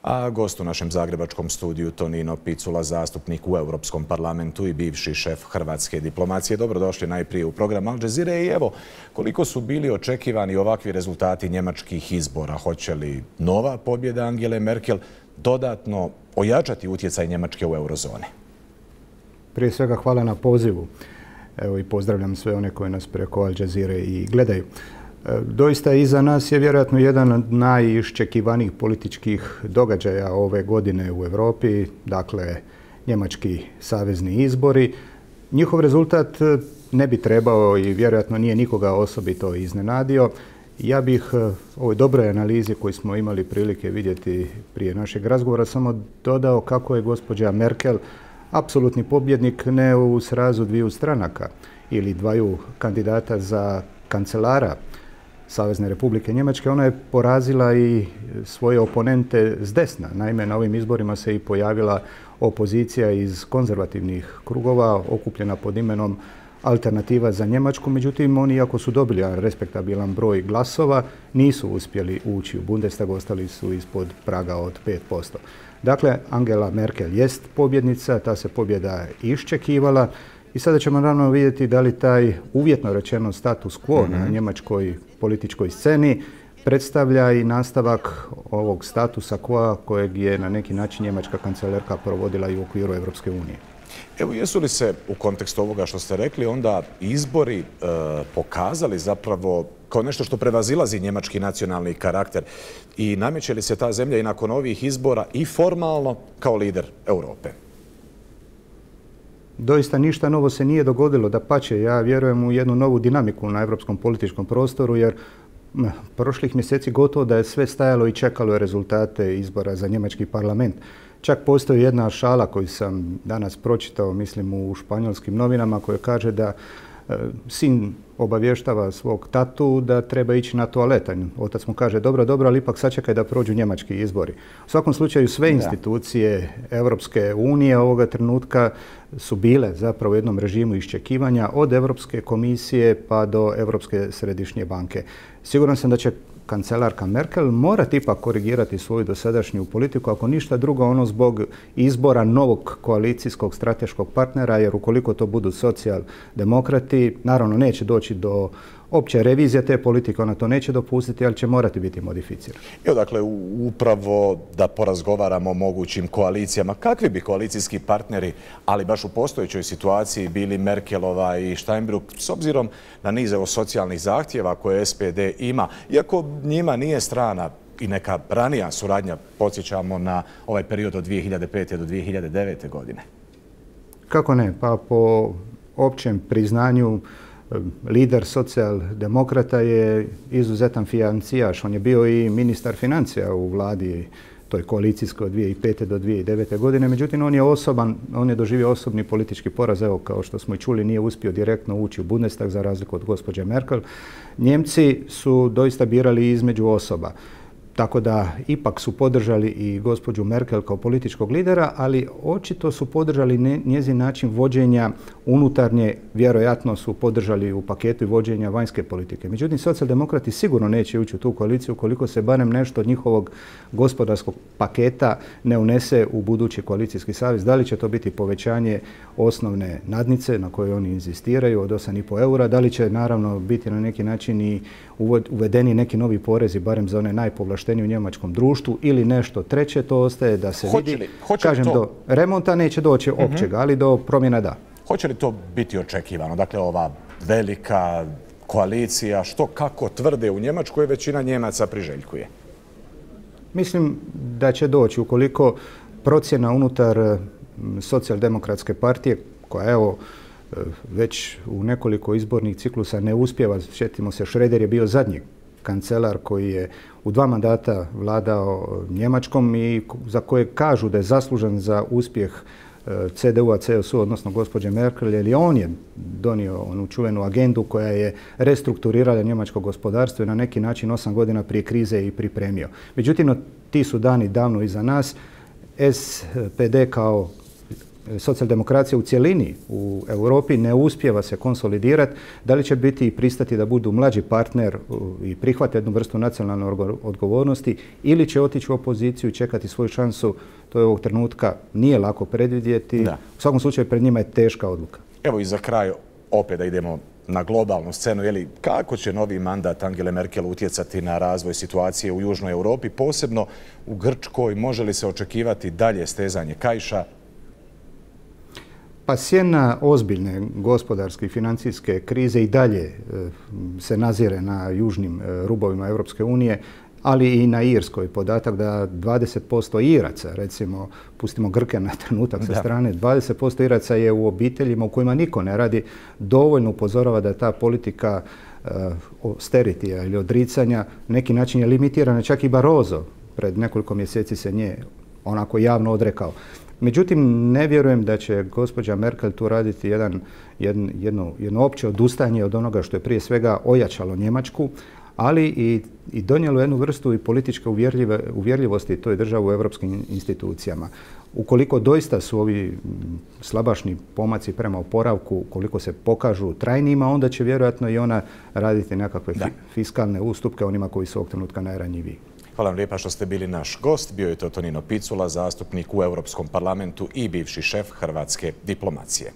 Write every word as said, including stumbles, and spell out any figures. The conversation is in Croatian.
A gost u našem zagrebačkom studiju Tonino Picula, zastupnik u Europskom parlamentu i bivši šef hrvatske diplomacije. Dobrodošli najprije u program Al Jazeere i evo koliko su bili očekivani ovakvi rezultati njemačkih izbora. Hoće li nova pobjeda Angele Merkel dodatno ojačati utjecaj Njemačke u eurozoni? Prije svega hvala na pozivu. Evo i pozdravljam sve one koji nas preko Al Jazeere i gledaju. Doista iza nas je vjerojatno jedan od najiščekivanijih političkih događaja ove godine u Europi, dakle njemački savezni izbori. Njihov rezultat ne bi trebao i vjerojatno nije nikoga osobito iznenadio. Ja bih u ovoj dobroj analizi koju smo imali prilike vidjeti prije našeg razgovora samo dodao kako je gospođa Merkel apsolutni pobjednik ne u srazu dviju stranaka ili dvaju kandidata za kancelara Savezne Republike Njemačke. Ona je porazila i svoje oponente s desna. Naime, na ovim izborima se i pojavila opozicija iz konzervativnih krugova, okupljena pod imenom Alternativa za Njemačku. Međutim, oni, iako su dobili respektabilan broj glasova, nisu uspjeli ući u Bundestag, ostali su ispod praga od pet posto. Dakle, Angela Merkel jest pobjednica, ta se pobjeda iščekivala. I sada ćemo naravno vidjeti da li taj uvjetno rečeno status quo mm-hmm. na njemačkoj političkoj sceni predstavlja i nastavak ovog statusa quo kojeg je na neki način njemačka kancelarka provodila i u okviru Europske unije. Evo, jesu li se u kontekstu ovoga što ste rekli onda izbori e, pokazali zapravo kao nešto što prevazilazi njemački nacionalni karakter i nameće li se ta zemlja i nakon ovih izbora i formalno kao lider Europe? Doista ništa novo se nije dogodilo, dapače, ja vjerujem u jednu novu dinamiku na europskom političkom prostoru jer prošlih mjeseci gotovo da je sve stajalo i čekalo rezultate izbora za njemački parlament. Čak postoji jedna šala koju sam danas pročitao, mislim u španjolskim novinama, koja kaže da e, sin obavještava svog tatu da treba ići na toalet. Otac mu kaže dobro, dobro, ali ipak sačekaj da prođu njemački izbori. U svakom slučaju sve institucije Europske unije ovoga trenutka su bile zapravo u jednom režimu iščekivanja od Europske komisije pa do Europske središnje banke. Siguran sam da će kancelarka Merkel morati ipak korigirati svoju dosadašnju politiku, ako ništa drugo ono zbog izbora novog koalicijskog strateškog partnera, jer ukoliko to budu socijaldemokrati, naravno neće doći do opće revizije te politike, ona to neće dopustiti, ali će morati biti modificirana. Evo, dakle, upravo da porazgovaramo o mogućim koalicijama. Kakvi bi koalicijski partneri, ali baš u postojećoj situaciji, bili Merkelova i Steinbrück, s obzirom na niz socijalnih zahtjeva koje S P D ima, iako njima nije strana i neka ranija suradnja, podsjećamo na ovaj period od dvije hiljade pete do dvije hiljade devete. godine? Kako ne? Pa po općem priznanju lider socijaldemokrata je izuzetan financijaš. On je bio i ministar financija u vladi toj koalicijskoj od dvije hiljade pete do dvije hiljade devete. godine. Međutim, on je osoban, on je doživio osobni politički poraz. Evo, kao što smo i čuli, nije uspio direktno ući u Bundestag za razliku od gospođe Merkel. Njemci su doista birali između osoba. Tako da ipak su podržali i gospođu Merkel kao političkog lidera, ali očito su podržali njezin način vođenja unutarnje, vjerojatno su podržali u paketu i vođenja vanjske politike. Međutim, socijaldemokrati sigurno neće ući u tu koaliciju ukoliko se barem nešto od njihovog gospodarskog paketa ne unese u budući koalicijski savez. Da li će to biti povećanje osnovne nadnice na kojoj oni inzistiraju od osam i pol eura, da li će naravno biti na neki način i uvedeni neki novi porezi, barem za one najpovlaštenije u njemačkom društvu ili nešto treće, to ostaje da se hoće vidi. Li, hoće Kažem, to... do remonta neće doći uh-huh. općega, ali do promjena da. Hoće li to biti očekivano? Dakle, ova velika koalicija, što kako tvrde u Njemačkoj, većina Njemaca priželjkuje? Mislim da će doći ukoliko procjena unutar socijaldemokratske partije, koja evo već u nekoliko izbornih ciklusa ne uspjeva. Sjetimo se, Schröder je bio zadnji kancelar koji je u dva mandata vladao Njemačkom i za koje kažu da je zaslužan za uspjeh C D U-a, C S U, odnosno gospođe Merkel, jer on je donio onu čuvenu agendu koja je restrukturirala njemačko gospodarstvo i na neki način osam godina prije krize i pripremio. Međutim, ti su dani davno iza nas. S P D kao socijaldemokracija u cjelini u Europi ne uspijeva se konsolidirati, da li će biti i pristati da budu mlađi partner i prihvate jednu vrstu nacionalne odgovornosti ili će otići u opoziciju i čekati svoju šansu, to je ovog trenutka nije lako predvidjeti. Da. U svakom slučaju pred njima je teška odluka. Evo i za kraj opet da idemo na globalnu scenu, jeli, kako će novi mandat Angele Merkel utjecati na razvoj situacije u Južnoj Europi, posebno u Grčkoj, može li se očekivati dalje stezanje kaiša? Pa sjena ozbiljne gospodarske i financijske krize i dalje se nazire na južnim rubovima Europske unije, ali i na Irskoj. Podatak da dvadeset posto Iraca, recimo, pustimo Grke na trenutak sa strane, dvadeset posto Iraca je u obiteljima u kojima niko ne radi, dovoljno upozorava da ta politika austeritija ili odricanja neki način je limitirana. Čak i Barroso pred nekoliko mjeseci se nje onako javno odrekao. Međutim, ne vjerujem da će gospođa Merkel tu raditi jedan, jedno, jedno, jedno opće odustajanje od onoga što je prije svega ojačalo Njemačku, ali i, i donijelo jednu vrstu i političke uvjerljive, uvjerljivosti toj državi u europskim institucijama. Ukoliko doista su ovi slabašni pomaci prema oporavku, ukoliko se pokažu trajnima, onda će vjerojatno i ona raditi nekakve fi, fiskalne ustupke onima koji su ovog trenutka najranjiviji. Hvala vam lijepa što ste bili naš gost. Bio je to Tonino Picula, zastupnik u Europskom parlamentu i bivši šef hrvatske diplomacije.